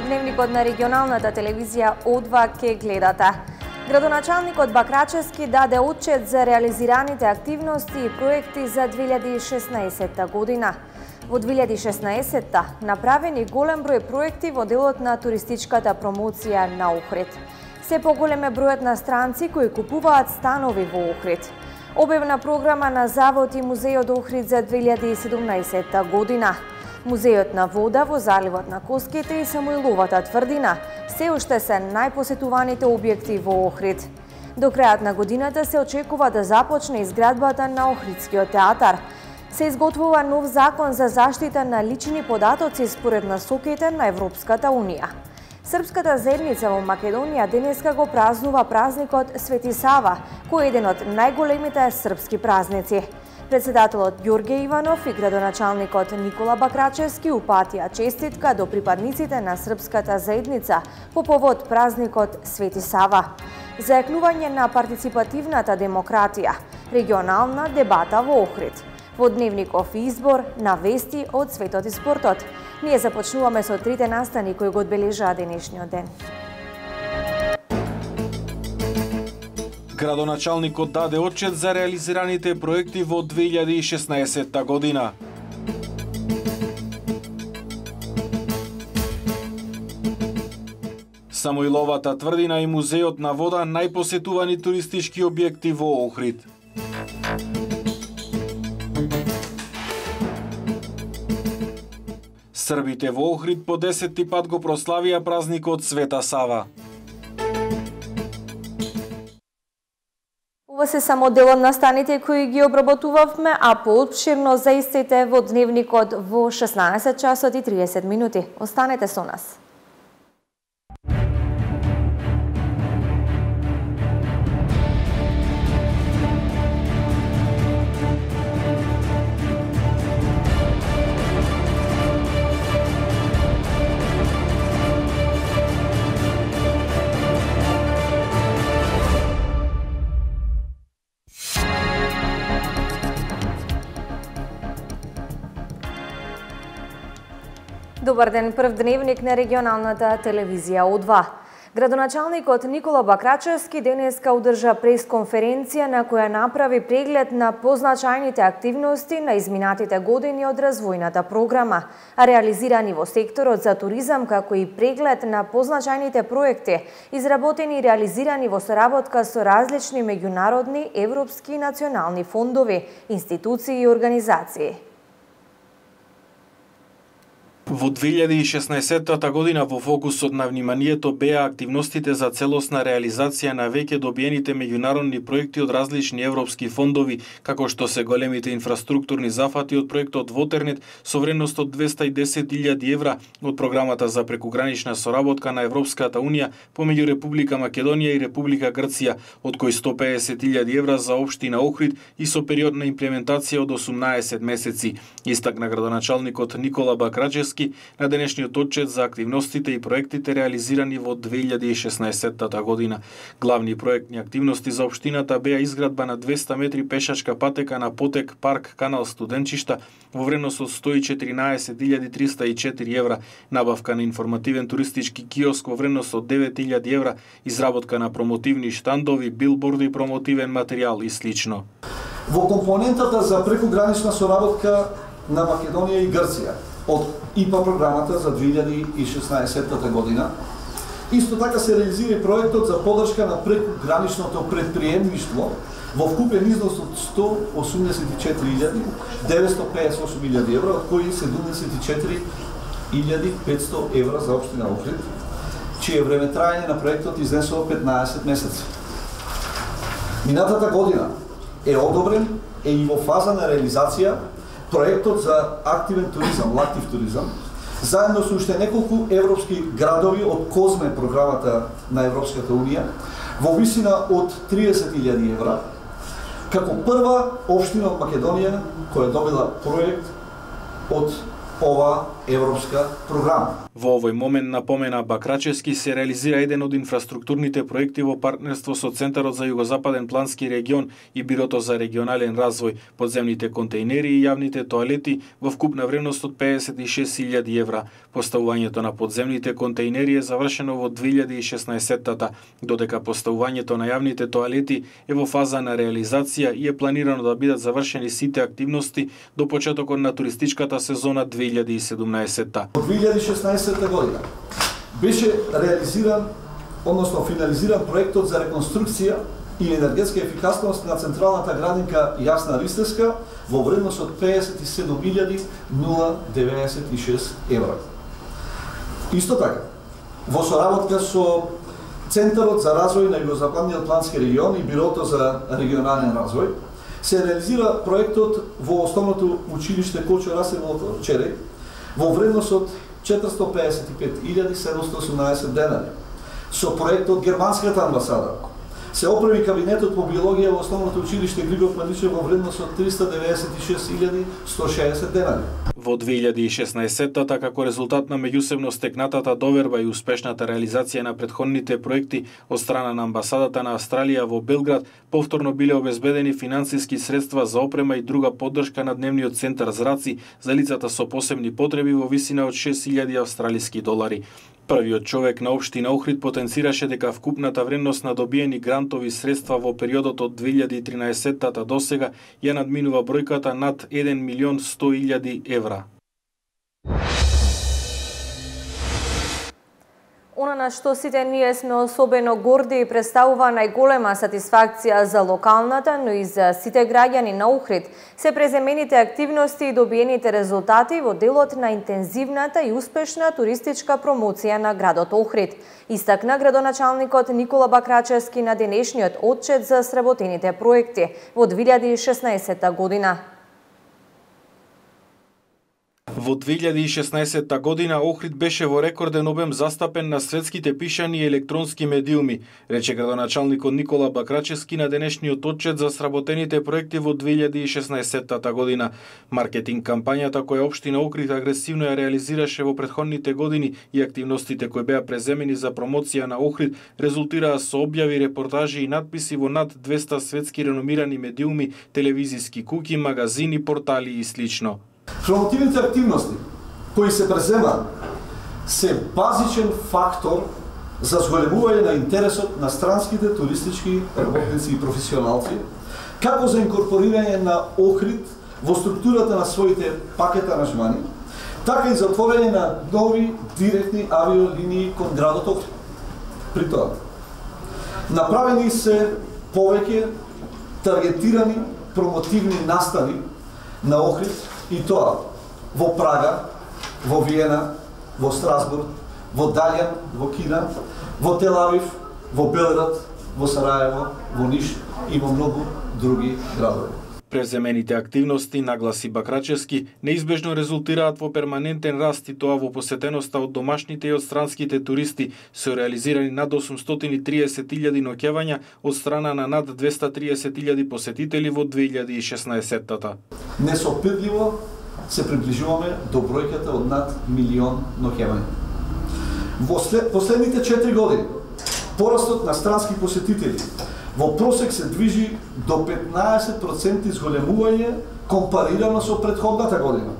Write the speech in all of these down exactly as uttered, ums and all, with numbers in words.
Дневникот на регионалната телевизија О два ке гледате. Градоначалникот Бакрачевски даде отчет за реализираните активности и проекти за две илјади и шеснаесетта година. Во две илјади и шеснаесетта направени голем број проекти во делот на туристичката промоција на Охрид. Се поголем е бројот на странци кои купуваат станови во Охрид. Објавна програма на Завод и Музејот Охрид за две илјади и седумнаесетта година. Музејот на вода во заливот на Коските и Самуиловата тврдина се уште се најпосетуваните објекти во Охрид. До крајот на годината се очекува да започне изградбата на Охридскиот театар. Се изготвува нов закон за заштита на лични податоци според насоките на Европската Унија. Српската заедница во Македонија денеска го празнува празникот Свети Сава, кој е еден од најголемите српски празници. Председателот Ѓорѓе Иванов и градоначалникот Никола Бакрачевски упатија честитка до припадниците на српската заедница по повод празникот Свети Сава. Зајакнување на партиципативната демократија, регионална дебата во Охрид. Во Дневников избор на вести од светот и спортот. Ние започнуваме со трите настани кои го одбележаа денешниот ден. Градоначалникот даде отчет за реализираните проекти во две илјади и шеснаесетта година. Самуиловата тврдина и Музејот на вода најпосетувани туристички објекти во Охрид. Србите во Охрид по десетти пат го прославија празникот Света Сава. Ова се само дел од настаните кои ги обработувавме, а поопширно за истите во Дневникот во шеснаесет часот и триесет минути. Останете со нас. Добар ден, прв дневник на регионалната телевизија О два. Градоначалникот Никола Бакрачевски денеска одржа пресконференција на која направи преглед на позначајните активности на изминатите години од развојната програма, а реализирани во секторот за туризам, како и преглед на позначајните проекти, изработени и реализирани во соработка со различни меѓународни, европски и национални фондови, институции и организации. Во две илјади и шеснаесетта година во фокусот на вниманието беа активностите за целосна реализација на веќе добиените меѓународни проекти од различни европски фондови, како што се големите инфраструктурни зафати од проектот Вотернет со вредност од двеста и десет илјади евра од програмата за прекугранична соработка на Европската Унија помеѓу Република Македонија и Република Грција, од кои сто педесет илјади евра за општина Охрид и со период на имплементација од осумнаесет месеци, истакна градоначалникот Никола Бакрачевски на денешниот отчет за активностите и проектите реализирани во две илјади и шеснаесетта година. Главни проектни активности за општината беа изградба на двеста метри пешачка патека на потек парк канал Студенчишта во вредност од сто и четиринаесет илјади триста и четири евра, набавка на информативен туристички киоск во вредност од девет илјади евра, изработка на промотивни штандови, билборди, промотивен материјал и слично. Во компонентата за прекугранична соработка на Македонија и Грција од И П А програмата за две илјади и шеснаесетта година. Исто така се реализира и проектот за поддршка на прекуграничното предприемништво во вкупен износ од сто осумдесет и четири илјади деветстотини и педесет и осум илјади евра, од кои седумдесет и четири илјади петстотини евра за општина Охрид, чие време траење на проектот изнесува петнаесет месеци. Минатата година е одобрен е и во фаза на реализација проектот за активен туризам, лактив туризам, заедно со уште неколку европски градови од Козме програмата на Европската Унија, во висина од триесет илјади евра, како прва општина од Македонија која добила проект од ова европска програма. Во овој момент, напомена Бакрачевски, се реализира еден од инфраструктурните проекти во партнерство со Центарот за Југозападен плански регион и Бирото за регионален развој, подземните контејнери и јавните тоалети во вкупна вредност од педесет и шест илјади евра. Поставувањето на подземните контејнери е завршено во две илјади и шеснаесеттата, додека поставувањето на јавните тоалети е во фаза на реализација и е планирано да бидат завршени сите активности до почетокот на туристичката сезона две илјади и седумнаесетта. Во две илјади и шеснаесетта година беше реализиран, односно финализиран проектот за реконструкција и енергетска ефикасност на централната градинка Јасна Ристевска во вредност од педесет и седум илјади деветдесет и шест евра. Исто така, во соработка со Центарот за развој на Југозападниот плански регион и Бирото за регионален развој, се реализира проектот во основното училиште Кочо Расев во Череј во вредност од четиристотини педесет и пет илјади седумстотини и осумнаесет денари. Со проектот Германската амбасада се опреми кабинетот по биологија во основното училиште Григор Маничев во вредност од триста деветдесет и шест илјади сто и шеесет денари. Во две илјади и шеснаесеттата, како резултат на меѓусебно стекнатата доверба и успешната реализација на претходните проекти од страна на амбасадата на Австралија во Белград, повторно биле обезбедени финансиски средства за опрема и друга поддршка на дневниот центар Зраци за лицата со посебни потреби во висина од шест илјади австралиски долари. Првиот човек на општина Охрид потенцираше дека вкупната вредност на добиени грантови средства во периодот од две илјади и тринаесеттата до сега ја надминува бројката над еден милион сто илјади евра. Она на што сите ние сме особено горди и представува најголема сатисфакција за локалната, но и за сите граѓани на Охрид, се преземените активности и добиените резултати во делот на интензивната и успешна туристичка промоција на градот Охрид, истакна градоначалникот Никола Бакрачевски на денешниот отчет за сработените проекти во две илјади и шеснаесетта година. Во две илјади и шеснаесетта година Охрид беше во рекорден обем застапен на светските пишани и електронски медиуми, рече градоначалникот Никола Бакрачевски на денешниот отчет за сработените проекти во две илјади и шеснаесеттата година. Маркетинг кампањата која општина Охрид агресивно ја реализираше во претходните години и активностите кои беа преземени за промоција на Охрид резултираа со објави, репортажи и надписи во над двеста светски реномирани медиуми, телевизиски куќи, магазини, портали и слично. Промотивните активности кои се преземаат се базичен фактор за зголемување на интересот на странските туристички работници и професионалци, како за инкорпорирање на Охрид во структурата на своите пакет аранжмани, така и за отворање на нови директни авиолинии кон градот Охрид. При тоа, направени се повеќе таргетирани промотивни настави на Охрид, и тоа во Прага, во Виена, во Страсбург, во Далјан, во Кина, во Тел Авив, во Белград, во Сараево, во Ниш и во многу други градови. Преземените активности, нагласи Бакрачевски, неизбежно резултираат во перманентен раст и тоа во посетеноста од домашните и од странските туристи, се реализирани над осумстотини и триесет илјади ноќевања од страна на над двеста и триесет илјади посетители во две илјади и шеснаесеттата. Несопирливо се приближуваме до бројката од над милион ноќевања. Во след, последните четири години порастот на странски посетители во просек се движи до петнаесет проценти зголемување компарирано со претходната година.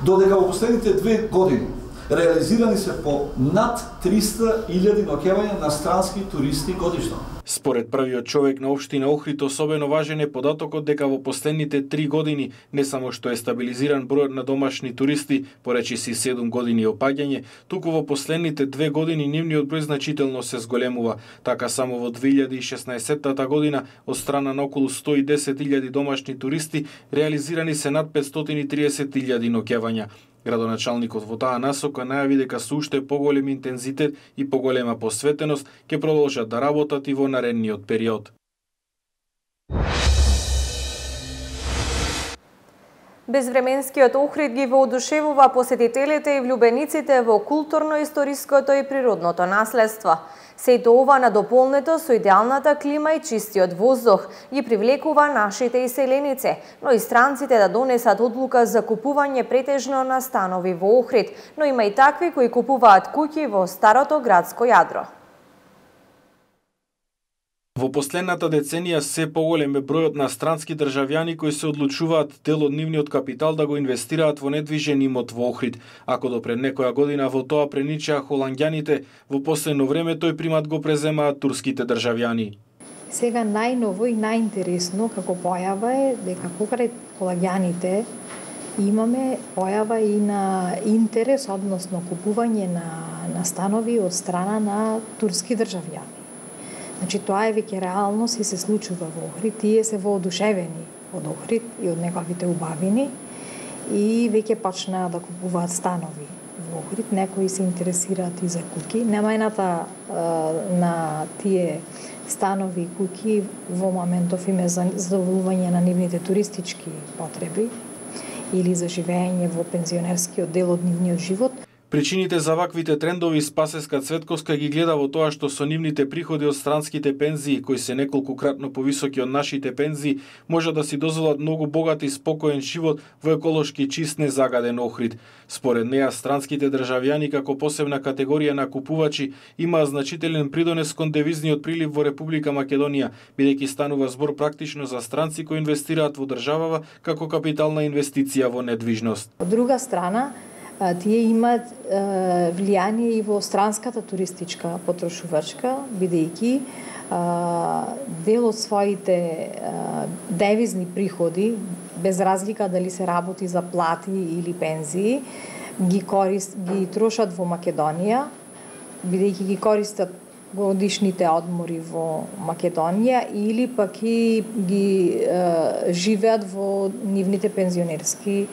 Додека во последните две години реализирани се по над триста илјади ноќевања на странски туристи годишно. Според првиот човек на општина Охрид, особено важен е податокот дека во последните три години не само што е стабилизиран бројот на домашни туристи, поречиси седум години опаѓање, туку во последните две години нивниот број значително се зголемува. Така само во две илјади и шеснаесеттата година од страна на околу сто и десет илјади домашни туристи реализирани се над петстотини и триесет илјади ноќевања. Градоначалникот во таа насока најави дека со уште поголем интензитет и поголема посветеност ќе продолжат да работат и во наредниот период. Безвременскиот Охрид ги воодушевува посетителите и влюбениците во културно-историското и природното наследство. Сето ова надополнето со идеалната клима и чистиот воздух ги привлекува нашите иселеници, но и странците да донесат одлука за купување претежно на станови во Охрид, но има и такви кои купуваат куќи во старото градско јадро. Во последната деценија се поголем е бројот на странски државјани кои се одлучуваат дел од нивниот капитал да го инвестираат во недвижен имот во Охрид. Ако до пред некоја година во тоа преничаа холанѓаните, во последно време тој примат го преземаат турските државјани. Сега најново и најинтересно како појава е дека покрај холанѓаните имаме појава и на интерес, односно купување на, на станови од страна на турски државјани. Значи, тоа е веќе реалност и се случува во Охрид. Тие се воодушевени од Охрид и од неговите убавини и веќе почнаа да купуваат станови во Охрид. Некои се интересираат и за куќи. Намајната на тие станови и куќи во моментов им е за задоволување на нивните туристички потреби или за живење во пензионерскиот дел од нивниот живот. Причините за ваквите трендови Спасеска Цветковска ги гледа во тоа што со нивните приходи од странските пензии, кои се неколкукратно повисоки од нашите пензии, може да си дозволат многу богат и спокоен живот во еколошки чист незагаден Охрид. Според неа, странските државјани како посебна категорија на купувачи имаа значителен придонес кон девизниот прилив во Република Македонија, бидејќи станува збор практично за странци кои инвестираат во државава како капитална инвестиција во недвижност. Од друга страна, тие имаат е, влијание и во странската туристичка потрошувачка, бидејќи е, дел од своите е, девизни приходи, без разлика дали се работи за плати или пензии, ги, корист, ги трошат во Македонија, бидејќи ги користат годишните одмори во Македонија или пак и ги е, живеат во нивните пензионерски е,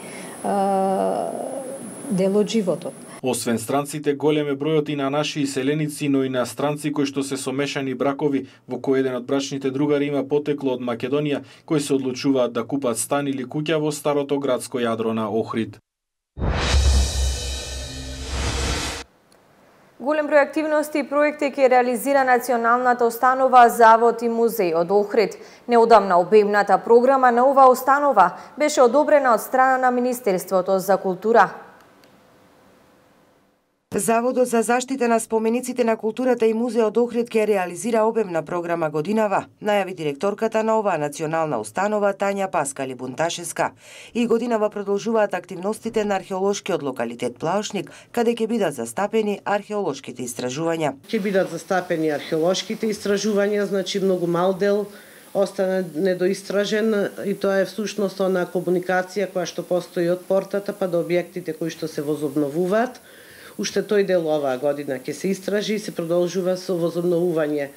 дел од животот. Освен странците, голем е бројот и на наши иселеници, но и на странци кои што се сомешани бракови, во кои еден од брачните другари има потекло од Македонија, кои се одлучуваат да купат стан или куќа во старото градско јадро на Охрид. Голем број активности и проекти ќе реализира Националната установа Завод и музеј од Охрид. Неодамна обемната програма на оваа установа беше одобрена од страна на Министерството за култура. Заводот за заштита на спомениците на културата и музеот Охрид ќе реализира обемна програма годинава, најави директорката на оваа национална установа Тања Паскали Бунташеска. И годинава продолжуваат активностите на археолошкиот локалитет Плаошник, каде ќе бидат застапени археолошките истражувања. Ќе бидат застапени археолошките истражувања, значи многу мал дел остана недоистражен и тоа е всушност она комуникација која што постои од портата па до објектите кои што се возобновуваат. Уште тој дел оваа година ќе се истражи и се продолжува со возобновување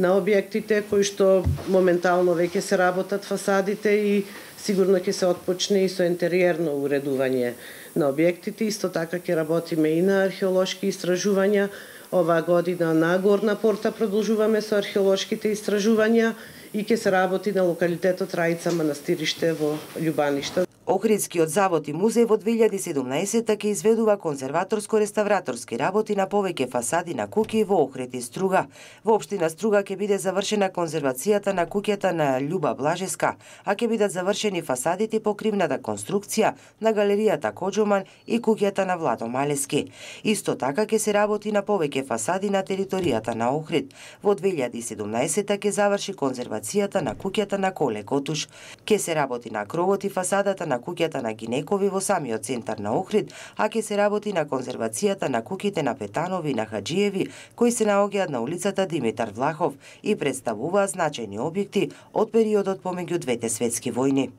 на објектите кои што моментално веќе се работат фасадите и сигурно ќе се отпочне и со интериерно уредување на објектите. Исто така ќе работиме и на археолошки истражувања. Оваа година на Горна порта продолжуваме со археолошките истражувања и ќе се работи на локалитетот Раица манастириште во Љубаниште. Охридскиот завод и музеј во две илјади и седумнаесетта ќе изведува конзерваторско-реставраторски работи на повеќе фасади на куќи во Охрид и Струга. Во општина Струга ќе биде завршена конзервацијата на куќата на Љуба Блажеска, а ќе бидат завршени фасадите и покривната конструкција на галеријата Коџоман и куќата на Владо Малески. Исто така ќе се работи на повеќе фасади на територијата на Охрид. Во две илјади и седумнаесетта ќе заврши конзервацијата на куќата на Коле Котуш. Ќе се работи на кровот и фасадата на куќата на Гинекови во самиот центар на Охрид, а ќе се работи на конзервацијата на куќите на Петанови и на Хаџиеви, кои се наоѓаат на улицата Димитар Влахов и представуваат значајни објекти од периодот помеѓу двете светски војни.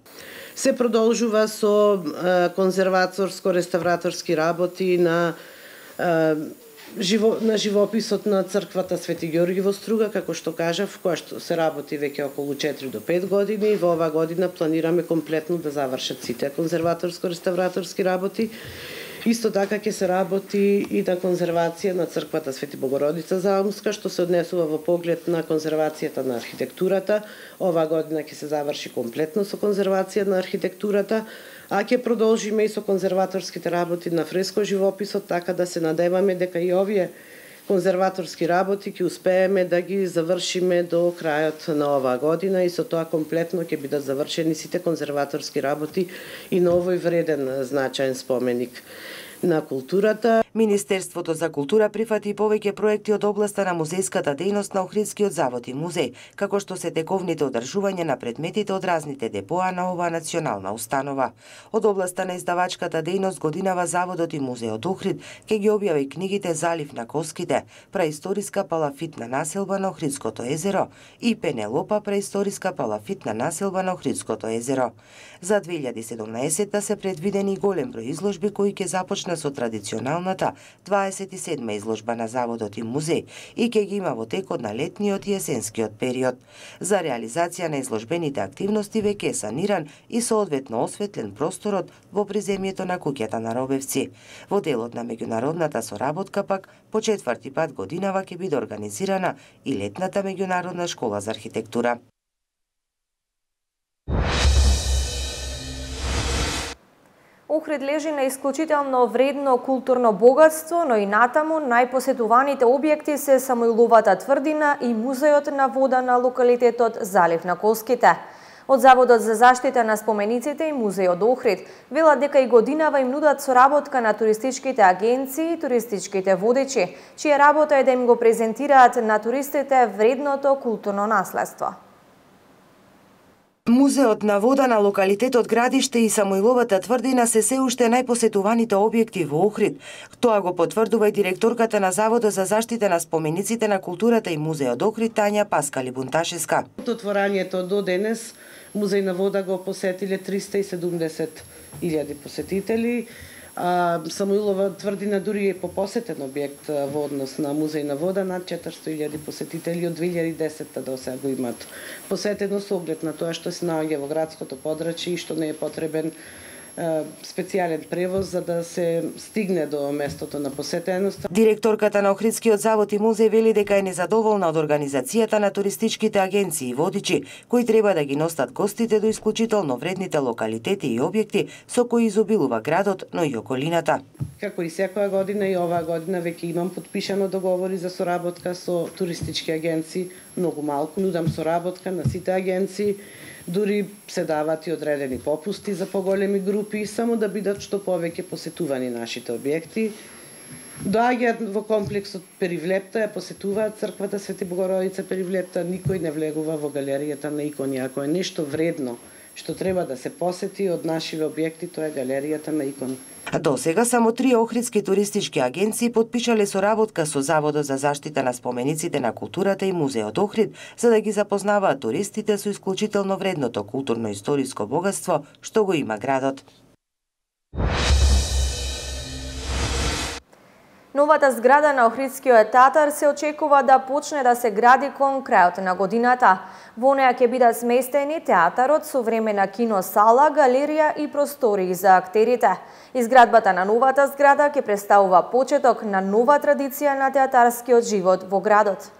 Се продолжува со конзерваторско-реставраторски работи на Живо, на живописот на црквата Свети Ѓорги во Струга, како што кажав, која што се работи веќе околу четири до пет години и во оваа година планираме комплетно да завршат сите конзерваторско-реставраторски работи. Исто така ќе се работи и на конзервација на црквата Свети Богородица Заумска, што се однесува во поглед на конзервацијата на архитектурата. Оваа година ќе се заврши комплетно со конзервација на архитектурата, а ќе продолжиме и со конзерваторските работи на фреско живописот, така да се надеваме дека и овие конзерваторски работи ќе успееме да ги завршиме до крајот на оваа година и со тоа комплетно ќе бидат завршени сите конзерваторски работи и на овој вреден значаен споменик на културата. Министерството за култура прифати повеќе проекти од областа на музејската дејност на Охридскиот завод и музеј, како што се тековните одржување на предметите од разните депоа на оваа национална установа. Од областа на издавачката дејност годинава заводот и музејот Охрид ќе ги објави книгите Залив на коските, праисториска палафитна населба на Охридското езеро и Пенелопа, праисториска палафитна населба на Охридското езеро. За две илјади и седумнаесетта се предвидени голем број изложби кои ќе започнат со традиционалната дваесет и седма изложба на заводот и музеј и ќе ги има во текот на летниот и есенскиот период. За реализација на изложбените активности веќе е саниран и соодветно осветлен просторот во приземјето на куќата на Робевци. Во делот на меѓународната соработка пак по четврти пат годинава ќе биде организирана и летната меѓународна школа за архитектура. Охрид лежи на исклучително вредно културно богатство, но и натаму најпосетуваните објекти се Самуиловата тврдина и музеот на вода на локалитетот Залив на коските. Од Заводот за заштита на спомениците и музеот Охрид велат дека и годинава им нудат соработка на туристичките агенции и туристичките водичи, чија работа е да им го презентираат на туристите вредното културно наследство. Музеот на вода на локалитетот Градиште и Самуиловата тврдина се се уште најпосетуваните објекти во Охрид. Тоа го потврдува и директорката на Заводот за заштита на спомениците на културата и музеот Охрид Тања Паскали Бунташеска. Од отворањето до денес Музеј на вода го посетиле триста и седумдесет илјади посетители. А, Самуилова тврдина дури е попосетен објект во однос на Музеј на вода, над четиристотини илјади посетители од две илјади и десетта до сега го имат посетено со оглед на тоа што се наоѓа во градското подрачје и што не е потребен специјален превоз за да се стигне до местото на посетеност. Директорката на Охридскиот завод и музеј вели дека е незадоволна од организацијата на туристичките агенции и водичи кои треба да ги носат гостите до исклучително вредните локалитети и објекти со кои изобилува градот, но и околината. Како и секоја година и оваа година веќе имам подпишано договори за соработка со туристички агенции, многу малку нудам соработка на сите агенции. Дури се дават и одредени попусти за поголеми групи, само да бидат што повеќе посетувани нашите објекти. Доаѓаат во комплексот Перивлепта, ја посетуваат црквата Свети Богородица Перивлепта, никој не влегува во галеријата на икони. Ако е нешто вредно што треба да се посети од нашиве објекти, тоа е галеријата на икони. До сега само три охридски туристички агенции потпишале соработка со Заводот за заштита на спомениците на културата и музеот Охрид, за да ги запознаваат туристите со исклучително вредното културно-историско богатство што го има градот. Новата зграда на Охридскиот театар се очекува да почне да се гради кон крајот на годината. Во неа ќе бидат сместени театарот, современа киносала, галерија и простории за актерите. Изградбата на новата зграда ќе представува почеток на нова традиција на театарскиот живот во градот.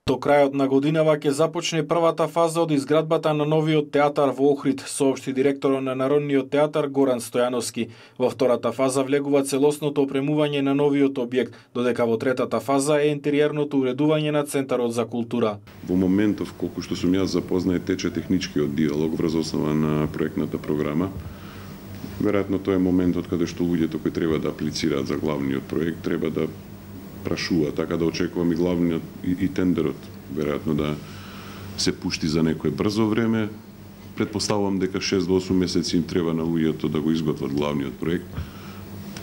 До крајот на годинава ќе започне првата фаза од изградбата на новиот театар во Охрид, соопшти директорот на Народниот театар Горан Стојановски. Во втората фаза влегува целосното опремување на новиот објект, додека во третата фаза е интериерното уредување на Центарот за култура. Во моментов, колку што сум јас запознае, тече техничкиот диалог врз основа на проектната програма. Веројатно тоа е моментот каде што луѓето кои треба да аплицираат за главниот проект треба да прашува, така да очекувам и главниот и, и тендерот веројатно да се пушти за некое брзо време. Предпоставувам дека шест до осум месеци им треба на луѓето да го изготват главниот проект.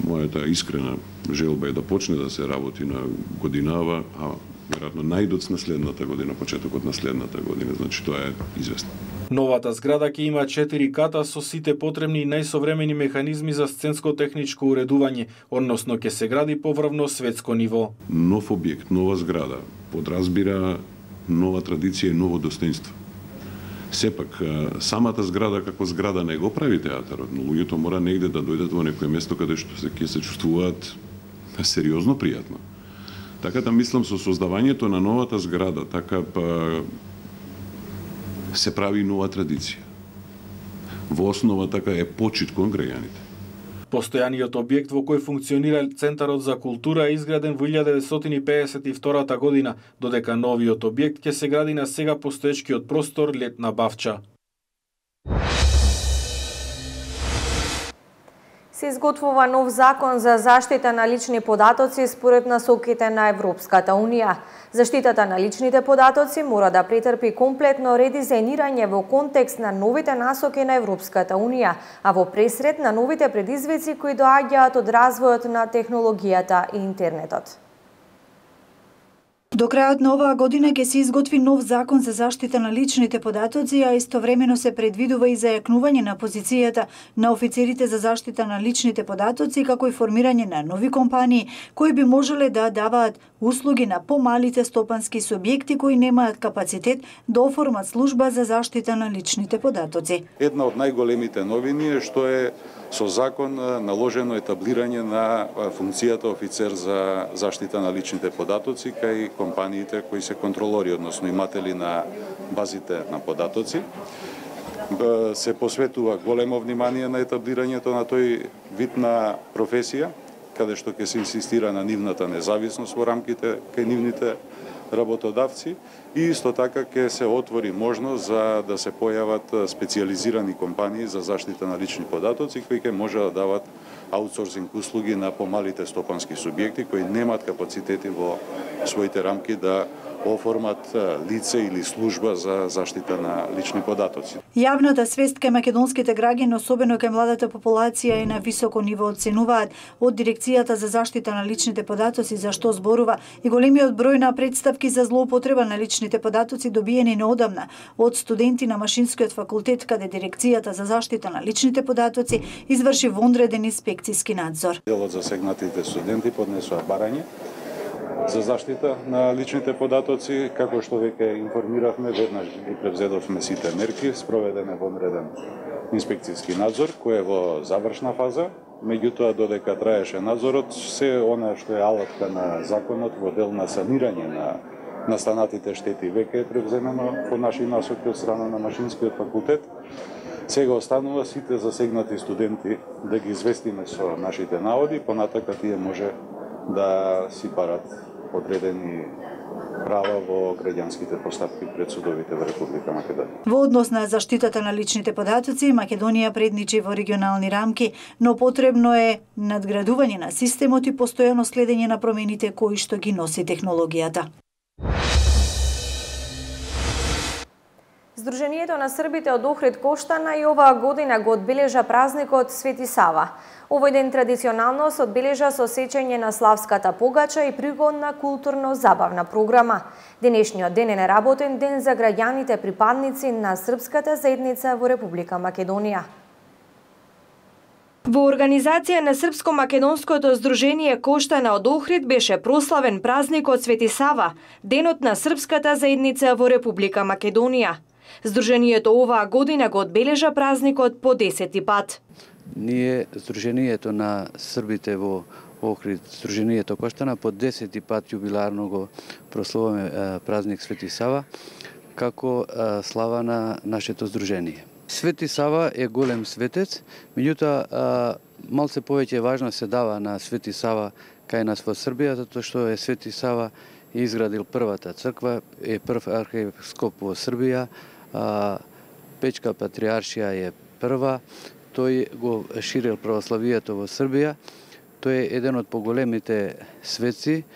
Мојата искрена желба е да почне да се работи на годинава, а веројатно најдоц на следната година, почетокот на следната година, значи тоа е известно. Новата зграда ќе има четири ката со сите потребни и најсовремени механизми за сценско-техничко уредување, односно ќе се гради поврвно светско ниво. Нов објект, нова зграда, подразбира нова традиција и ново достоинство. Сепак, самата зграда како зграда не го прави театарот, но луѓето мора негде да дојдат во некое место каде што се ќе се чувствуваат сериозно пријатно. Така да мислам со создавањето на новата зграда, така па се прави нова традиција. Во основа така е почит кон граѓаните. Постојаниот објект во кој функционира Центарот за култура е изграден во илјада деветстотини пеесет и втора година, додека новиот објект ќе се гради на сега постоечкиот простор Летна Бавча. Се изготвува нов закон за заштита на лични податоци според насоките на Европската Унија. Заштитата на личните податоци мора да претрпи комплетно редизајнирање во контекст на новите насоки на Европската Унија, а во пресред на новите предизвици кои доаѓаат од развојот на технологијата и интернетот. До крајот на оваа година ќе се изготви нов закон за заштита на личните податоци, а истовремено се предвидува и зајакнување на позицијата на офицерите за заштита на личните податоци, како и формирање на нови компании кои би можеле да даваат услуги на помалите стопански субјекти кои немаат капацитет да оформат служба за заштита на личните податоци. Една од најголемите новини е што е со закон наложено етаблирање на функцијата офицер за заштита на личните податоци кај компаниите кои се контролори, односно иматели на базите на податоци. Се посветува големо внимание на етаблирањето на тој вид на професија, каде што ќе се инсистира на нивната независност во рамките кај нивните работодавци и исто така ќе се отвори можност за да се појават специјализирани компании за заштита на лични податоци кои ќе може да дават аутсорсинг услуги на помалите стопански субјекти кои немаат капацитети во своите рамки да оформат лице или служба за заштита на лични податоци. Јавната свест кај македонските граѓани, особено кај младата популација, е на високо ниво, оценуваат од Дирекцијата за заштита на личните податоци, за што зборува и големиот број на представки за злоупотреба на личните податоци добиени неодамна од студенти на Машинскиот факултет, каде Дирекцијата за заштита на личните податоци изврши вонреден инспекциски надзор. Дел од засегнатите студенти поднесоа барање за заштита на личните податоци, како што веќе информиравме, веднаш ги превзедовме сите мерки, спроведен е вонреден инспекцијски надзор, кој е во завршна фаза. Меѓутоа, додека траеше надзорот, се она што е алатка на законот во дел на санирање на настанатите штети веќе е превземено по наши насоки од страна на Машинскиот факултет. Сега останува сите засегнати студенти да ги известиме со нашите наводи, понатака тие може да си барат одредени права во граѓанските постапки пред судовите во Република Македонија. Во однос на заштитата на личните податоци, Македонија предничи во регионални рамки, но потребно е надградување на системот и постојано следење на промените кои што ги носи технологијата. Сдруженијето на србите од Охрид Коштана и оваа година го одбележа празникот Свети Сава. Овој ден традиционално се одбележа со сеќање на славската погача и пригодна културно-забавна програма. Денешниот ден е неработен ден за граѓаните припадници на српската заедница во Република Македонија. Во организација на Српско-македонското здружение Коштана од Охрид беше прославен празникот Свети Сава, денот на српската заедница во Република Македонија. Здруженијето оваа година го одбележа празникот по десети пат. Ние, Сдруженијето на србите во Охрид, Сдруженијето Коштана, по десети пат јубиларно го прославуваме празник Свети Сава, како слава на нашето здружение. Свети Сава е голем светец, меѓутоа малце повеќе важност се дава на Свети Сава кај нас во Србија, затоа што е Свети Сава изградил првата црква, е прв архиепископ во Србија, Печка патриаршија е прва, тој го ширил православието во Србија, тој е еден од поголемите светци,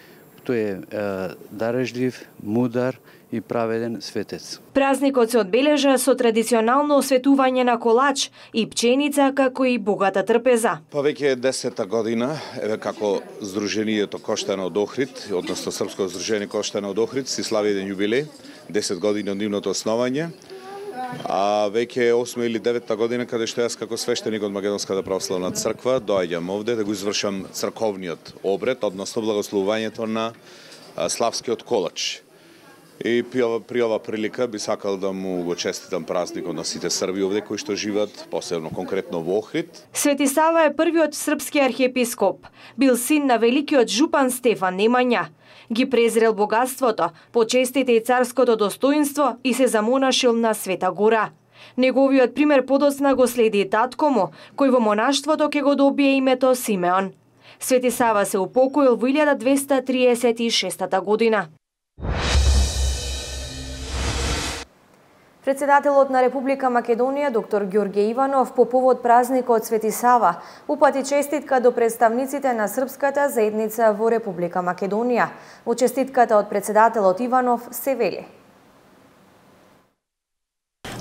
тој е дарежлив, мудар и праведен светец. Празникот се одбележа со традиционално осветување на колач и пченица, како и богата трпеза. Па веќе е десета година, еве како Здруженијето Коштана од Охрид, односно Српско здружение Коштана од Охрид, си слави еден јубилеј, десет години од нивното основање. А веќе е осма или девета година каде што јас како свештеник од Македонската православна црква доаѓам овде да го извршам црковниот обред, односно благословувањето на славскиот колач. И при ова, при ова прилика би сакал да му го честитам празникот на сите Срби овде кои што живеат, посебно конкретно во Охрид. Свети Сава е првиот српски архиепископ. Бил син на великиот жупан Стефан Немања. Ги презрел богатството, почестите и царското достоинство и се замонашил на Света Гора. Неговиот пример подоцна го следи и татко му, кој во монаштвото ќе го добие името Симеон. Свети Сава се упокоил во илјада двеста триесет и шеста година. Председателот на Република Македонија, доктор Ѓорѓе Иванов, по повод празникот Свети Сава, упати честитка до представниците на српската заедница во Република Македонија. Во честитката од председателот Иванов се вели: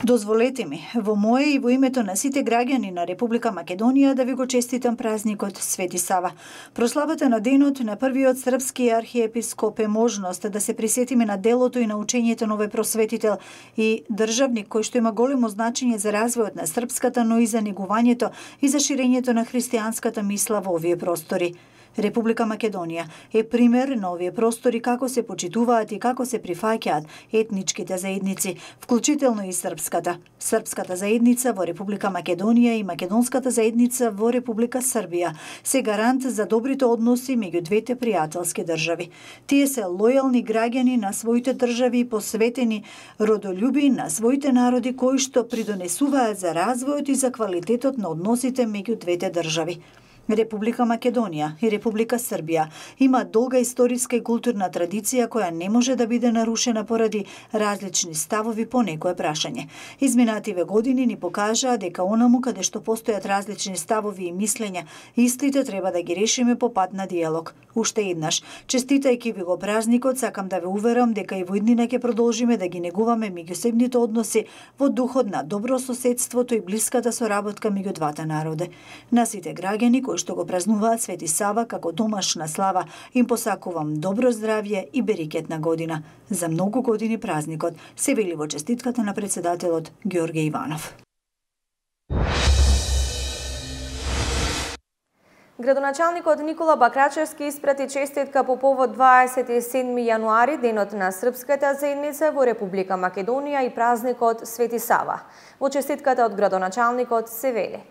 Дозволете ми, во мое и во името на сите граѓани на Република Македонија да ви го честитам празникот Свети Сава. Прославата на денот на првиот српски архиепископ е можност да се присетиме на делото и на учењето на овој просветител и државник кој што има големо значење за развојот на српската, но и за негувањето и за ширењето на христијанската мисла во овие простори. Република Македонија е пример на овие простори како се почитуваат и како се прифаќаат етничките заедници, вклучително и српската. Српската заедница во Република Македонија и македонската заедница во Република Србија се гарант за добрите односи меѓу двете пријателски држави. Тие се лојални граѓани на своите држави и посветени родолюби на своите народи кои што придонесуваат за развојот и за квалитетот на односите меѓу двете држави. Република Македонија и Република Србија има долга историска и културна традиција која не може да биде нарушена поради различни ставови по некое прашање. Изминативе години ни покажаа дека онаму каде што постојат различни ставови и мислења, истите треба да ги решиме по пат на диалог. Уште еднаш, честитајќи ви го празникот, сакам да ве уверам дека и во иднина ќе продолжиме да ги негуваме меѓусебните односи во духот на добро соседството и блиската соработка меѓу двата народи. На сите граѓани кои што го празнуваат Свети Сава како домашна слава, им посакувам добро здравје и берикетна година. За многу години празникот, се вели во честитката на председателот Ѓорѓе Иванов. Градоначалникот Никола Бакрачевски испрати честитка по повод дваесет и седми јануари, денот на српската заедница во Република Македонија и празникот Свети Сава. Во честитката од градоначалникот се вели: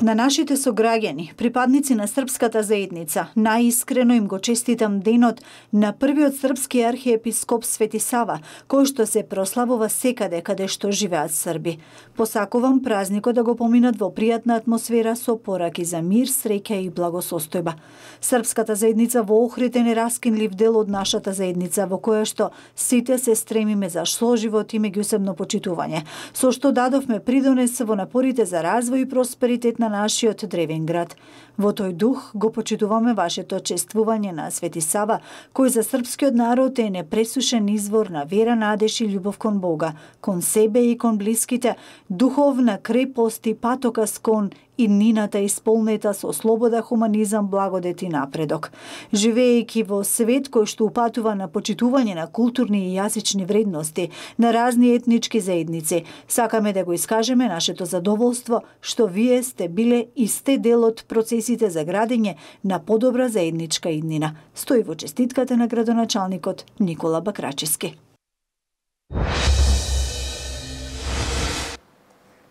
На нашите сограѓани, припадници на српската заедница, најискрено им го честитам денот на првиот српски архиепископ Свети Сава, кој што се прославува секаде каде што живеат срби. Посакувам празникот да го поминат во пријатна атмосфера со пораки за мир, среќа и благосостојба. Српската заедница во Охрид е нераскинлив дел од нашата заедница, во која што сите се стремиме за соживот и меѓусебно почитување, со што дадовме придонес во напорите за развој и просперитет на нашиот древен град. Во тој дух го почитуваме вашето чествување на Свети Сава, кој за српскиот народ е непресушен извор на вера, надеж и љубов кон Бога, кон себе и кон блиските, духовна крепост и патокас кон иднината исполнета со слобода, хуманизам, благодет и напредок. Живеејќи во свет кој што упатува на почитување на културни и јазични вредности, на разни етнички заедници, сакаме да го искажеме нашето задоволство што вие сте биле и сте дел од процесите за градење на подобра заедничка иднина. Стои во честитката на градоначалникот Никола Бакрачевски.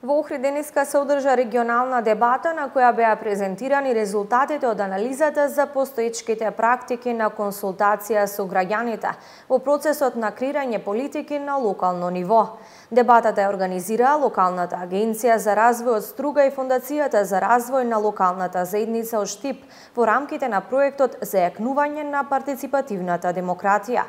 Во Охрид денеска се одржа регионална дебата на која беа презентирани резултатите од анализата за постоечките практики на консултација со граѓаните во процесот на креирање политики на локално ниво. Дебатата ја организираа Локалната агенција за развој од Струга и Фондацијата за развој на локалната заедница од Штип во рамките на проектот за јакнување на партиципативната демократија.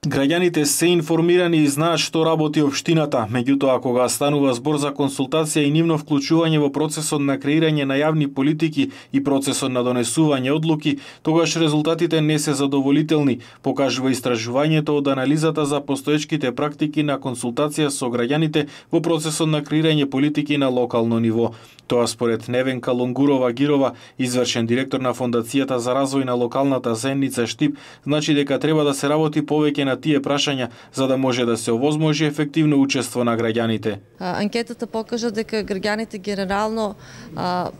Граѓаните се информирани и знаат што работи општината, меѓутоа кога станува збор за консултација и нивно вклучување во процесот на креирање на јавни политики и процесот на донесување одлуки, тогаш резултатите не се задоволителни, покажува истражувањето од анализата за постоечките практики на консултација со граѓаните во процесот на креирање политики на локално ниво. Тоа според Невенка Лонгурова Гирова, извршен директор на Фондацијата за развој на локалната заедница Штип, значи дека треба да се работи повеќе на тие прашања за да може да се овозможи ефективно учество на граѓаните. Анкетата покажа дека граѓаните генерално а,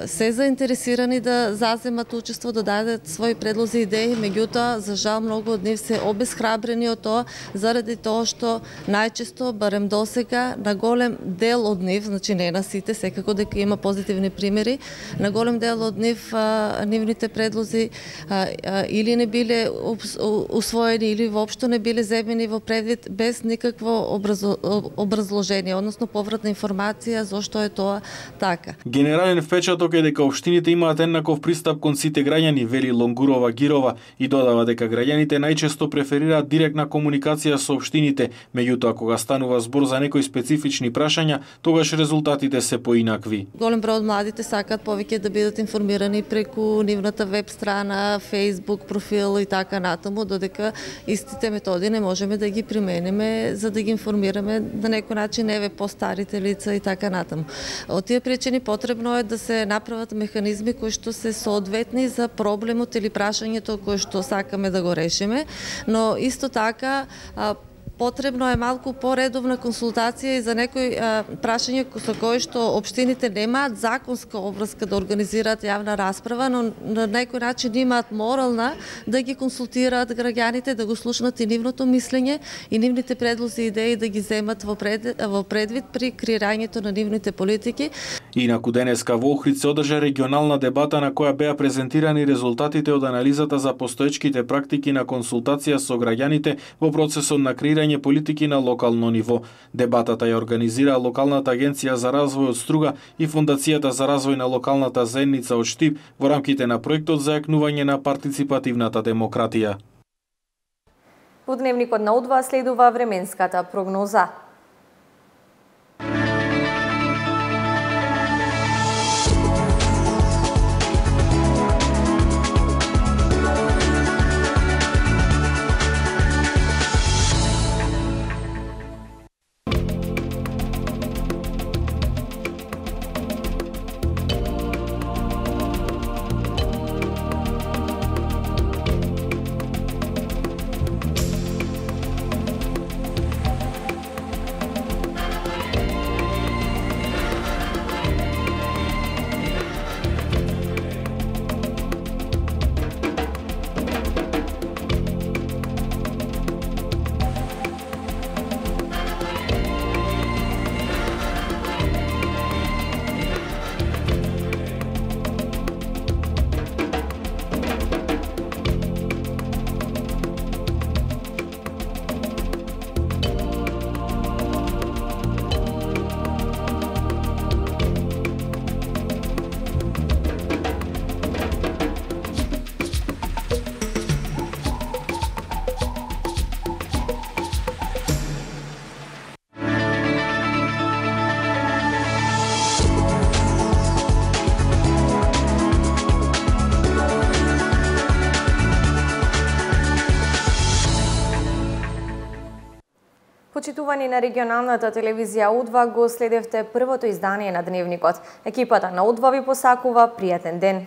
се заинтересирани да заземат учество, да дадат своји предлози и идеи, меѓутоа, за жал, многу од нив се обесхрабрени од тоа, заради тоа што најчесто, барем досега, на голем дел од нив, значи не на сите, секако дека има позитивни примери, на голем дел од нив, а, нивните предлози а, а, или не биле усвоени, или воопшто не биле земени во предвид без никакво образо, образложение, односно повратна информација зошто е тоа така. Генерален впечаток е дека општините имаат еднаков пристап кон сите граѓани, вели Лонгурова Гирова, и додава дека граѓаните најчесто преферираат директна комуникација со општините, меѓутоа кога станува збор за некои специфични прашања, тогаш резултатите се поинакви. Голем број од младите сакаат повеќе да бидат информирани преку нивната веб страна, Facebook профил и така натаму, додека истите методи не можеме да ги примениме за да ги информираме на некој начин еве по-старите лица и така натаму. Од тие причини потребно е да се направат механизми кои што се соодветни за проблемот или прашањето кој што сакаме да го решиме, но исто така потребно е малку поредовна консултација и за некои а, прашања со кои што општините немаат законска обврска да организираат јавна расправа, но на некој начин имаат морална да ги консултираат граѓаните, да го слушнат и нивното мислење и нивните предлози и идеи да ги земат во, пред, во предвид при креирањето на нивните политики. Инаку денеска во Охрид се одржа регионална дебата на која беа презентирани резултатите од анализата за постоечките практики на консултација со граѓаните во процесот на креирање политики на локално ниво. Дебатата ја организира Локалната агенција за развој од Струга и Фондацијата за развој на локалната заедница од Штип во рамките на проектот за јакнување на партиципативната демократија. Во дневникот на Удва следува временската прогноза. Почитувани на регионалната телевизија Удва, го следевте првото издание на Дневникот. Екипата на Удва ви посакува пријатен ден.